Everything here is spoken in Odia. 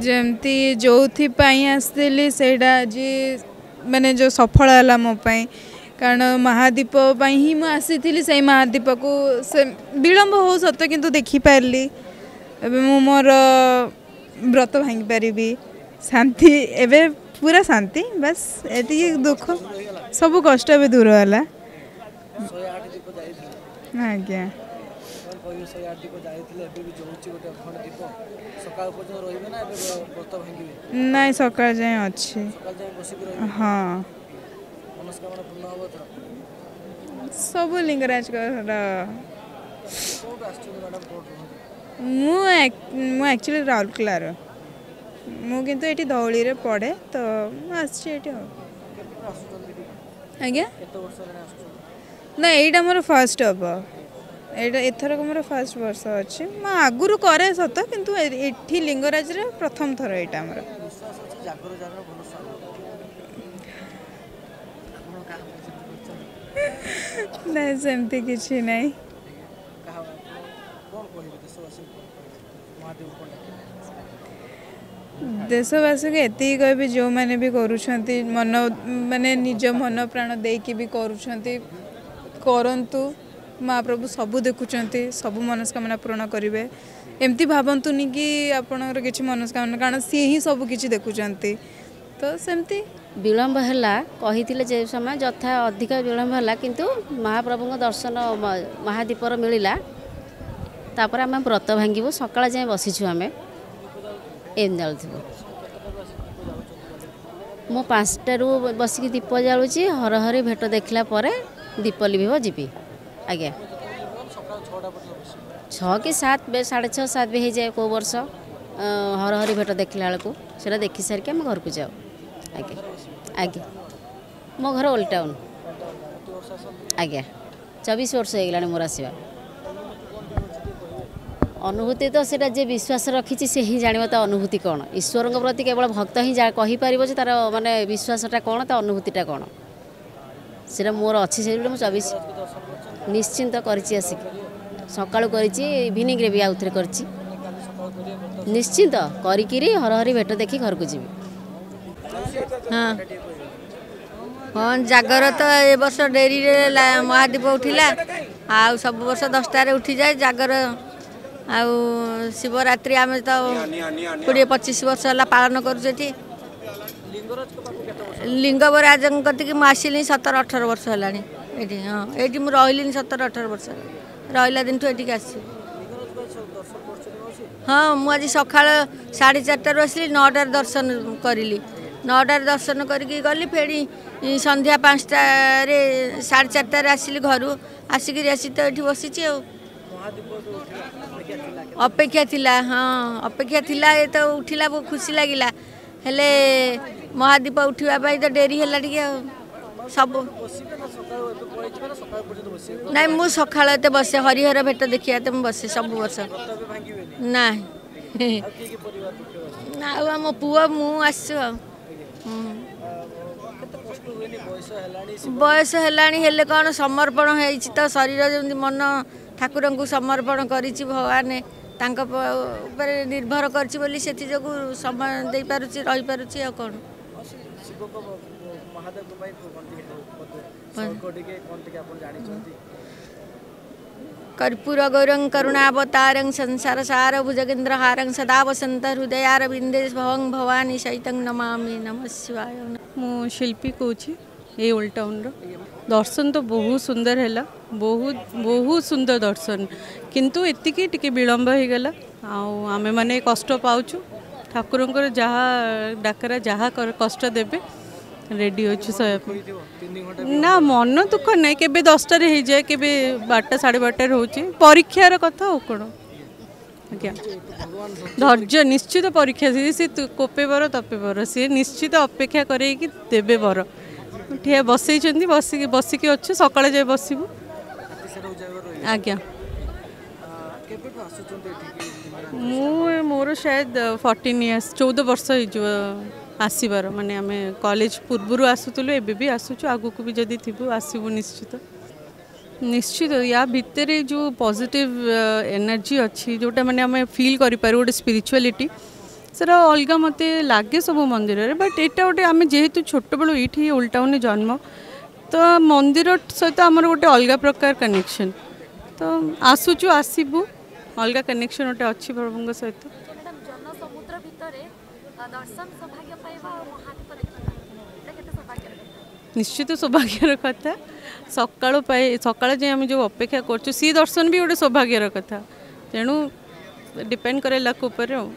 ଯେମିତି ଯେଉଁଥିପାଇଁ ଆସିଥିଲି ସେଇଟା ଆଜି ମାନେ ଯେଉଁ ସଫଳ ହେଲା ମୋ ପାଇଁ, କାରଣ ମହାଦୀପ ପାଇଁ ହିଁ ମୁଁ ଆସିଥିଲି। ସେଇ ମହାଦୀପକୁ ସେ ବିଳମ୍ବ ହଉ ସତ, କିନ୍ତୁ ଦେଖିପାରିଲି। ଏବେ ମୁଁ ମୋର ବ୍ରତ ଭାଙ୍ଗିପାରିବି, ଶାନ୍ତି, ଏବେ ପୁରା ଶାନ୍ତି। ବାସ୍ ଏତିକି, ଦୁଃଖ ସବୁ କଷ୍ଟ ଏବେ ଦୂର ହେଲା। ଆଜ୍ଞା, ନାଇଁ, ସକାଳ ଯାଏଁ ଅଛି। ହଁ, ସବୁ ଲିଙ୍ଗରାଜଙ୍କର। ମୁଁ ଆକ୍ଚୁଆଲି ରାଉରକେଲାର ମୁଁ, କିନ୍ତୁ ଏଇଠି ଧଉଳିରେ ପଢ଼େ, ତ ମୁଁ ଆସିଛି ଏଇଠି। ଆଉ ଆଜ୍ଞା, ନା, ଏଇଟା ମୋର ଫାର୍ଷ୍ଟ ହେବ। ଏଇଟା ଏଥରକ ମୋର ଫାର୍ଷ୍ଟ ବର୍ଷ ଅଛି। ମୁଁ ଆଗରୁ କରେ ସତ, କିନ୍ତୁ ଏଠି ଲିଙ୍ଗରାଜରେ ପ୍ରଥମ ଥର ଏଇଟା ଆମର। ନାଇଁ, ସେମିତି କିଛି ନାହିଁ। ଦେଶବାସୀକୁ ଏତିକି କହିବି, ଯେଉଁମାନେ ବି କରୁଛନ୍ତି, ମନ ମାନେ ନିଜ ମନ ପ୍ରାଣ ଦେଇକି ବି କରୁଛନ୍ତି, କରନ୍ତୁ। ମହାପ୍ରଭୁ ସବୁ ଦେଖୁଛନ୍ତି, ସବୁ ମନସ୍କାମନା ପୂରଣ କରିବେ। ଏମିତି ଭାବନ୍ତୁନି କି ଆପଣଙ୍କର କିଛି ମନସ୍କାମନା, କାରଣ ସିଏ ହିଁ ସବୁ କିଛି ଦେଖୁଛନ୍ତି। ତ ସେମିତି ବିଳମ୍ବ ହେଲା, କହିଥିଲେ ଯେ ସମୟ ଯଥା ଅଧିକ ବିଳମ୍ବ ହେଲା, କିନ୍ତୁ ମହାପ୍ରଭୁଙ୍କ ଦର୍ଶନ ମହାଦୀପର ମିଳିଲା। ତାପରେ ଆମେ ବ୍ରତ ଭାଙ୍ଗିବୁ। ସକାଳ ଯାଏଁ ବସିଛୁ ଆମେ, ଏମିତି ଜାଳୁଥିବୁ। ମୁଁ 5ଟାରୁ ବସିକି ଦୀପ ଜାଳୁଛି। ହରହରି ଭେଟ ଦେଖିଲା ପରେ ଦୀପ ଲିଭିବ, ଯିବି ଆଜ୍ଞା। 6 କି 7, 6:30, 7 ବି ହେଇଯାଏ କେଉଁ ବର୍ଷ ହରହରି ଭେଟ ଦେଖିଲା ବେଳକୁ। ସେଇଟା ଦେଖି ସାରିକି ଆମେ ଘରକୁ ଯାଉ। ଆଜ୍ଞା ଆଜ୍ଞା, ମୋ ଘର ଓଲ୍ଡ ଟାଉନ୍ ଆଜ୍ଞା। 24 ବର୍ଷ ହେଇଗଲାଣି ମୋର ଆସିବା। ଅନୁଭୂତି ତ ସେଇଟା ଯିଏ ବିଶ୍ୱାସ ରଖିଛି ସେ ହିଁ ଜାଣିବ ତା ଅନୁଭୂତି କ'ଣ। ଈଶ୍ୱରଙ୍କ ପ୍ରତି କେବଳ ଭକ୍ତ ହିଁ କହିପାରିବ ଯେ ତା'ର ମାନେ ବିଶ୍ୱାସଟା କ'ଣ, ତା ଅନୁଭୂତିଟା କ'ଣ। ସେଇଟା ମୋର ଅଛି, ସେଇଟା ମୁଁ 24 ନିଶ୍ଚିନ୍ତ କରିଛି। ଆସିକି ସକାଳୁ କରିଛି, ଇଭିନିଂରେ ବି ଆଉଥରେ କରିଛି। ନିଶ୍ଚିନ୍ତ କରିକିରି ହରହରି ଭେଟ ଦେଖି ଘରକୁ ଯିବି। ହଁ ହଁ, ଜାଗର ତ ଏ ବର୍ଷ ଡେରିରେ ମହାଦୀପ ଉଠିଲା, ଆଉ ସବୁ ବର୍ଷ 10ଟାରେ ଉଠିଯାଏ ଜାଗର। ଆଉ ଶିବରାତ୍ରି ଆମେ ତ 20 25 ବର୍ଷ ହେଲା ପାଳନ କରୁଛୁ ଏଠି। ଲିଙ୍ଗରାଜଙ୍କ କତିକି ମୁଁ ଆସିଲିଣି 17 18 ବର୍ଷ ହେଲାଣି ଏଇଠି। ହଁ, ଏଇଠି ମୁଁ ରହିଲିଣି 17 18 ବର୍ଷ, ରହିଲା ଦିନଠୁ ଏଠିକି ଆସିଛି। ହଁ, ମୁଁ ଆଜି ସକାଳ 4:30ରୁ ଆସିଲି, 9ଟାରେ ଦର୍ଶନ କରିଲି। 9ଟାରେ ଦର୍ଶନ କରିକି ଗଲି, ଫେଣି ସନ୍ଧ୍ୟା 5ଟାରେ, 4:30ରେ ଆସିଲି ଘରୁ। ଆସିକିରି ଆସି ତ ଏଠି ବସିଛି। ଆଉ ଅପେକ୍ଷା ଥିଲା, ହଁ, ଅପେକ୍ଷା ଥିଲା। ଏ ତ ଉଠିଲା, ବହୁତ ଖୁସି ଲାଗିଲା। ହେଲେ ମହାଦୀପ ଉଠିବା ପାଇଁ ତ ଡେରି ହେଲା ଟିକେ। ଆଉ ସବୁ ନାଇଁ, ମୁଁ ସକାଳ ଏତେ ବସେ, ହରିହର ଭେଟ ଦେଖିବା ତ ମୁଁ ବସେ ସବୁ ବର୍ଷ। ନାଇଁ, ଆଉ ଆମ ପୁଅ ମୁଁ ଆସିଛୁ। ଆଉ ବୟସ ହେଲାଣି, ହେଲେ କ'ଣ ସମର୍ପଣ ହେଇଛି ତ ଶରୀର, ଯେମିତି ମନ ଠାକୁରଙ୍କୁ ସମର୍ପଣ କରିଛି, ଭଗବାନ ତାଙ୍କ ଉପରେ ନିର୍ଭର କରିଛି ବୋଲି ସେଥିଯୋଗୁଁ ସମୟ ଦେଇପାରୁଛି, ରହିପାରୁଛି। ଆଉ କ'ଣ କର୍ପୂର ଗୌରଂ କରୁଣାବତାରଂ ସଂସାର ସାର ଭୁଜଗେନ୍ଦ୍ର ହାରଂ ସଦା ବସନ୍ତ ହୃଦୟାର ବିନ୍ଦେ ଭବଂ ଭବାନୀ ସହିତଂ ନମାମି। ନମ ଶିବାୟ। ମୁଁ ଶିଳ୍ପୀ କହୁଛି ଏଇ ଓଲ୍ଡ ଟାଉନ୍ର। ଦର୍ଶନ ତ ବହୁତ ସୁନ୍ଦର ହେଲା, ବହୁତ ବହୁତ ସୁନ୍ଦର ଦର୍ଶନ, କିନ୍ତୁ ଏତିକି ଟିକେ ବିଳମ୍ବ ହେଇଗଲା ଆଉ ଆମେମାନେ କଷ୍ଟ ପାଉଛୁ। ଠାକୁରଙ୍କର ଯାହା ଡାକରା, ଯାହା କଷ୍ଟ ଦେବେ ରେଡ଼ି ଅଛୁ ସହିବା ପାଇଁ। ନା, ମନ ଦୁଃଖ ନାହିଁ। କେବେ 10ଟାରେ ହେଇଯାଏ, କେବେ 12ଟା 12:30ରେ ହେଉଛି। ପରୀକ୍ଷାର କଥା ଆଉ କ'ଣ ଆଜ୍ଞା। ଧୈର୍ଯ୍ୟ ନିଶ୍ଚିତ ପରୀକ୍ଷା, ସେ କୋପେ ବର ତପେ ବର, ସିଏ ନିଶ୍ଚିତ ଅପେକ୍ଷା କରେଇକି ଦେବେ ବର। ଠିଆ ବସେଇଛନ୍ତି, ବସିକି ବସିକି ଅଛୁ, ସକାଳେ ଯାଇ ବସିବୁ ଆଜ୍ଞା। ମୁଁ ମୋର ସାୟଦ 14 ଇୟର୍ସ, 14 ବର୍ଷ ହେଇଯିବ ଆସିବାର। ମାନେ ଆମେ କଲେଜ ପୂର୍ବରୁ ଆସୁଥିଲୁ, ଏବେ ବି ଆସୁଛୁ, ଆଗକୁ ବି ଯଦି ଥିବୁ ଆସିବୁ ନିଶ୍ଚିତ ନିଶ୍ଚିତ। ୟା ଭିତରେ ଯେଉଁ ପଜିଟିଭ୍ ଏନର୍ଜି ଅଛି, ଯେଉଁଟା ମାନେ ଆମେ ଫିଲ୍ କରିପାରୁ ଗୋଟେ ସ୍ପିରିଚୁଆଲିଟି, ସେଟା ଅଲଗା ମୋତେ ଲାଗେ ସବୁ ମନ୍ଦିରରେ, ବଟ୍ ଏଇଟା ଗୋଟେ ଆମେ ଯେହେତୁ ଛୋଟବେଳୁ ଏଇଠି ଓଲ୍ଡ ଟାଉନରେ ଜନ୍ମ, ତ ମନ୍ଦିର ସହିତ ଆମର ଗୋଟେ ଅଲଗା ପ୍ରକାର କନେକ୍ସନ୍। ତ ଆସୁଛୁ, ଆସିବୁ, ଅଲଗା କନେକ୍ସନ୍ ଗୋଟେ ଅଛି ପ୍ରଭୁଙ୍କ ସହିତ। ଜନସମୁଦ୍ର ଭିତରେ ଦର୍ଶନ ସୌଭାଗ୍ୟ ପାଇବା ଆଉ ମହାଦୀପ ଦେଖିବା, ଏଇଟା କେତେ ସୌଭାଗ୍ୟର କଥା? ନିଶ୍ଚିତ ସୌଭାଗ୍ୟର କଥା। ସକାଳୁ ପାଇ ସକାଳ ଯାଏଁ ଆମେ ଯେଉଁ ଅପେକ୍ଷା କରୁଛୁ, ସିଏ ଦର୍ଶନ ବି ଗୋଟେ ସୌଭାଗ୍ୟର କଥା। ତେଣୁ ଡିପେଣ୍ଡ କରେ ଲକ୍ ଉପରେ ଆଉ।